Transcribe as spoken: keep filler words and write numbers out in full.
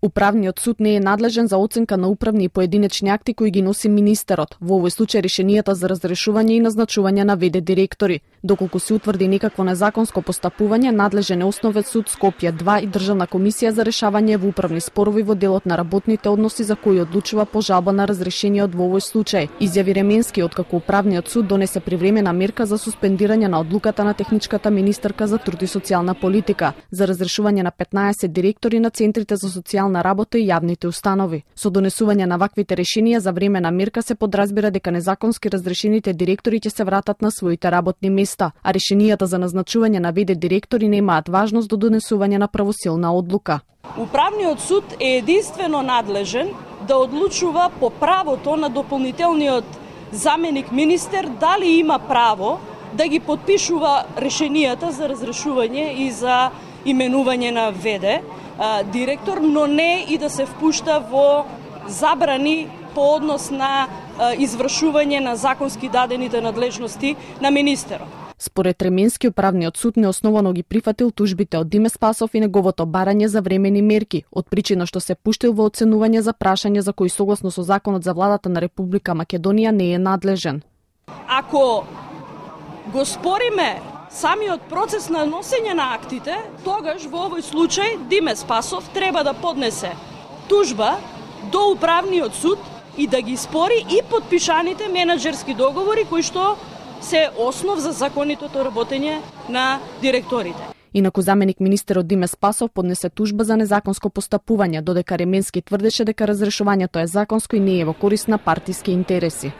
Управниот суд не е надлежен за оценка на управни и поединечни акти кои ги носи министерот, во овој случај решенијата за разрешување и назначување на ве де директори. Доколку се утврди некакво незаконско постапување, надлежен е Основен суд Скопје два и Државна комисија за решавање во управни спорови во делот на работните односи за кои одлучува по жалба на разрешениот во овој случај. Изјави Ременски откако Управниот суд донесе привремена мерка за суспендирање на одлуката на техничката министерка за труд и социјална политика за разрешување на петнаесет директори на центрите за социјална работа и јавните установи. Со донесување на ваквите решенија за времена мерка се подразбира дека незаконски разрешените директори ќе се вратат на своите работни места, а решенијата за назначување на ве де директори немаат важност до донесување на правосилна одлука. Управниот суд е единствено надлежен да одлучува по правото на дополнителниот заменик министер дали има право да ги подпишува решенијата за разрешување и за именување на ве де директор, но не и да се впушта во забрани по однос на извршување на законски дадените надлежности на министерот. Според Ременски, Управниот суд неосновано ги прифатил тужбите од Диме Спасов и неговото барање за времени мерки, од причина што се пуштил во оценување за прашање за кои согласно со законот за владата на Република Македонија не е надлежен. Ако го спориме самиот процес на носење на актите, тогаш во овој случај Диме Спасов треба да поднесе тужба до Управниот суд и да ги спори и подпишаните менаџерски договори кои што се основ за законитото работење на директорите. Инаку заменик министерот Диме Спасов поднесе тужба за незаконско постапување, додека Ременски тврдеше дека разрешувањето е законско и не е во корист на партиски интереси.